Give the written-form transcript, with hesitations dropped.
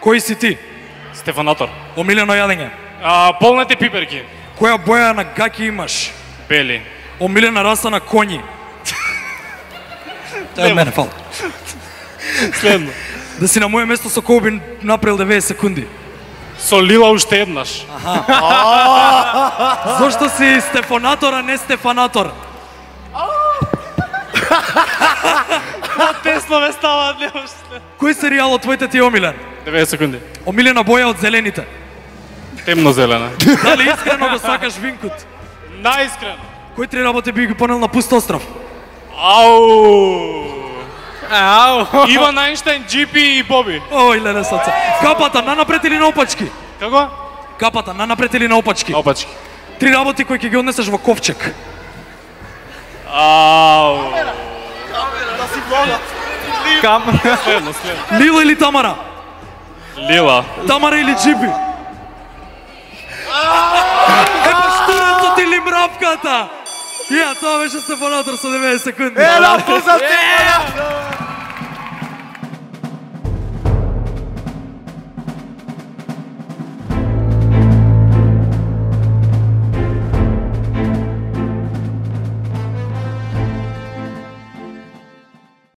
Кој си ти? Стефанатор. Омилено јадење. Полнете пиперки. Која боја на гаки имаш? Бели. Омилена раса на коњи. Тоа е мене, фал. Следно. Да си на моје место со кој би направил 90 секунди. Со Лила уште еднаш. Зошто си Стефанатор, а не Стефанатор? Тесно ме ставаат, немаш. Кој серијал од твоите ти е омилен? 90 секунди. Омилена боја од зелените. Темно зелена. Дали искрено го сакаш винкот? Наискрено. Кој три работи би ги понел на пуст остров? Ау. Иван Ајнштајн, GP и Боби. Ој, леле саца. Капата нанапред или наопачки? Како? Капата нанапред или наопачки? Опачки. Три работи кои ќе ги однесеш во ковчег. Ау. Следно. Лила или Тамара? Лила. Тамара или Джипи? Штурецот или мравката? Ја, тоа беше Стефанатор со 90 секунди. Лапо за Стефанатор!